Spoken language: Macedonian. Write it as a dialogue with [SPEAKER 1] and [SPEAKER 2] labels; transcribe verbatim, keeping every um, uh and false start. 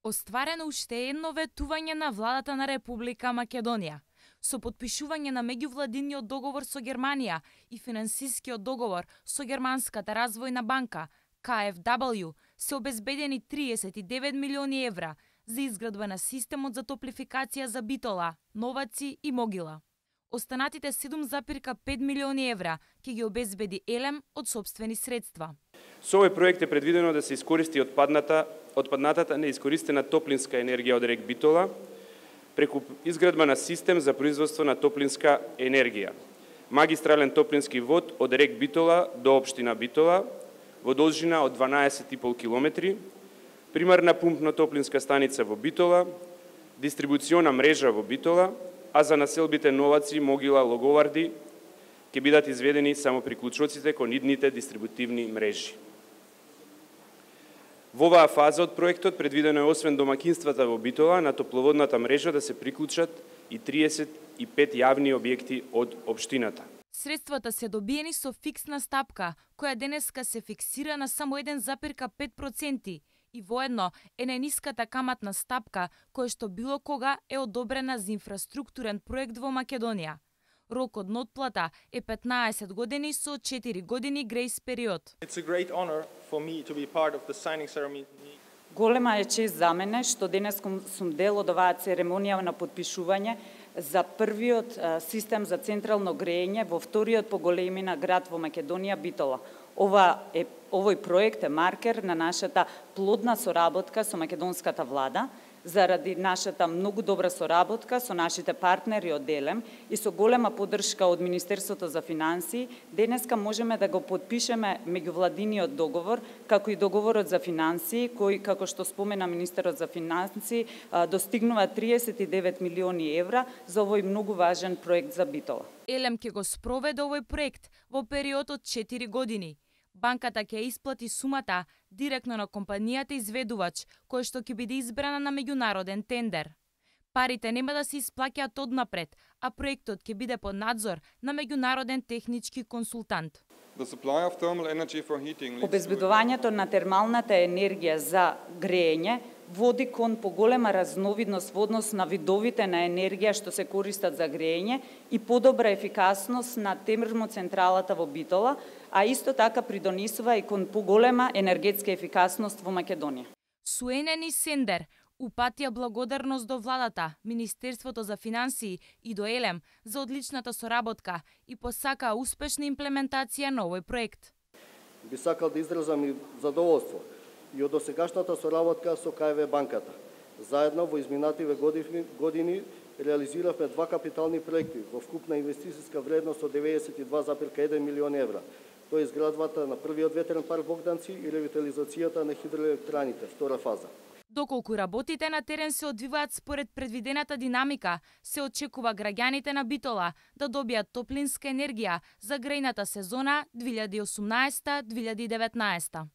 [SPEAKER 1] Остварено уште едно ветување на владата на Република Македонија. Со потпишување на меѓувладиниот договор со Германија и финансискиот договор со Германската развојна банка К Ф W се обезбедени триесет и девет милиони евра за изградба на системот за топлификација за Битола, Новаци и Могила. Останатите седум запирка пет милиони евра ќе ги обезбеди Елем од сопствени средства.
[SPEAKER 2] Со овој проект е предвидено да се искористи отпадната, отпаднатата неискористена топлинска енергија од рек Битола преку изградба на систем за производство на топлинска енергија. Магистрален топлински вод од рек Битола до општина Битола во должина од дванаесет и пол километри, примарна пумпно-топлинска станица во Битола, дистрибуциона мрежа во Битола, а за населбите Новаци, Могила, Логоварди ќе бидат изведени само приклучоците кон идните дистрибутивни мрежи. Во оваа фаза од проектот предвидено е освен домакинствата во Битола на топловодната мрежа да се приклучат и триесет и пет јавни објекти од општината.
[SPEAKER 1] Средствата се добиени со фиксна стапка, која денеска се фиксира на само еден запирка пет проценти и воедно е најниската каматна стапка која што било кога е одобрена за инфраструктурен проект во Македонија. Рокот на отплата е петнаесет години со четири години грејс период.
[SPEAKER 3] Голема е чест за мене што денес сум дел од оваа церемонија на подпишување за првиот систем за централно грејење во вториот по големина град во Македонија, Битола. Ова е, овој проект е маркер на нашата плодна соработка со македонската влада, заради нашата многу добра соработка со нашите партнери од Елем и со голема поддршка од Министерството за финансии, денеска можеме да го подпишеме меѓувладиниот договор, како и договорот за финансии, кој, како што спомена министерот за финансии, достигнува триесет и девет милиони евра за овој многу важен проект за Битола.
[SPEAKER 1] Елем ќе го спроведе овој проект во период од четири години. Банката ќе исплати сумата директно на компанијата изведувач, која што ќе биде избрана на меѓународен тендер. Парите нема да се исплаќаат однапред, а проектот ќе биде под надзор на меѓународен технички консултант.
[SPEAKER 3] Обезбедувањето на термалната енергија за греење води кон поголема разновидност во однос на видовите на енергија што се користат за греење и подобра ефикасност на термоцентралата во Битола, а исто така придонесува и кон поголема енергетска ефикасност во Македонија.
[SPEAKER 1] Суенени Сендер упатија благодарност до владата, Министерството за финансии и до Елем за одличната соработка и посака успешна имплементација на овој проект.
[SPEAKER 4] Би сакал да изразам и задоволство и од досегашната соработка со К Ф банката. Заедно во изминативе години, години реализиравме два капитални проекти во вкупна инвестициска вредност од деветдесет и два запирка еден милион евра. Тоа е изградбата на првиот ветерен парк Богданци и ревитализацијата на хидроелектраните, втора фаза.
[SPEAKER 1] Доколку работите на терен се одвиваат според предвидената динамика, се очекува граѓаните на Битола да добијат топлинска енергија за грејната сезона две илјади и осумнаесета две илјади и деветнаесета.